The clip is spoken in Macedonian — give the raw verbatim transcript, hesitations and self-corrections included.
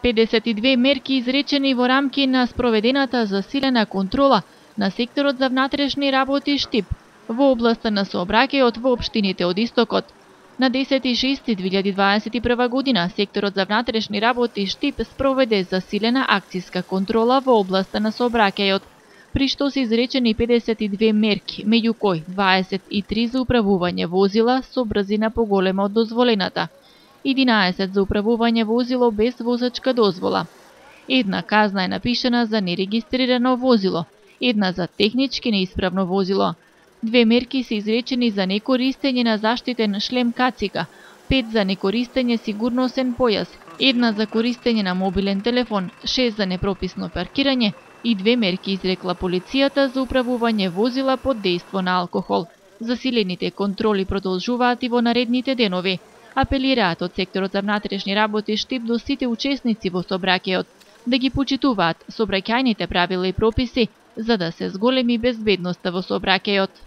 педесет и две мерки изречени во рамки на спроведената засилена контрола на секторот за внатрешни работи Штип во областа на сообраќајот во општините од Истокот. На десети јуни две илјади дваесет и прва година секторот за внатрешни работи Штип спроведе засилена акциска контрола во областа на сообраќајот, при што се изречени педесет и две мерки, меѓу кои дваесет и три за управување возила со брзина поголема од дозволената, единаесет за управување возило без возачка дозвола. Една казна е напишана за нерегистрирано возило, една за технички неисправно возило. Две мерки се изречени за некористење на заштитен шлем кацика, пет за некористење сигурносен појас, една за користење на мобилен телефон, шест за непрописно паркирање и две мерки изрекла полицијата за управување возила под дејство на алкохол. Засилените контроли продолжуваат и во наредните денови. Апелираат од секторот за внатрешни работи Штип до сите учесници во сообраќајот да ги почитуваат сообраќајните правила и прописи за да се зголеми безбедноста во сообраќајот.